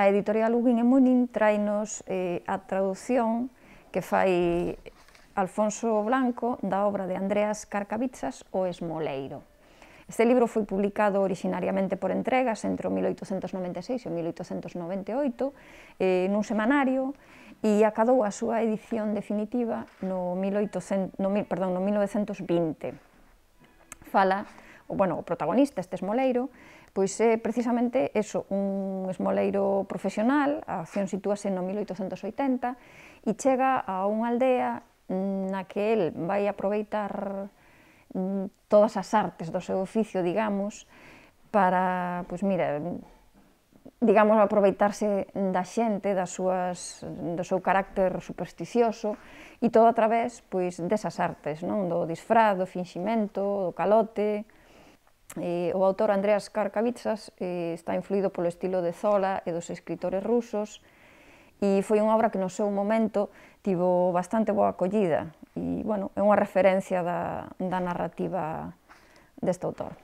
A editorial Ugin e Munin trainos a traducción que fai Alfonso Blanco da obra de Andreas Carcavitsas, O Esmoleiro. Este libro foi publicado originariamente por entregas entre o 1896 e o 1898 nun semanario e acadou a súa edición definitiva no 1920. O protagonista, este esmoleiro, pois é precisamente un esmoleiro profesional. A acción sitúase no 1880 e chega a unha aldea na que el vai aproveitar todas as artes do seu oficio, digamos, para, aproveitarse da xente, do seu carácter supersticioso, e todo a través desas artes, do disfraz, do finximento, do calote. O autor Andreas Carcavitsas está influído polo estilo de Zola e dos escritores rusos, e foi unha obra que no seu momento tivo bastante boa acollida, e é unha referencia da narrativa deste autor.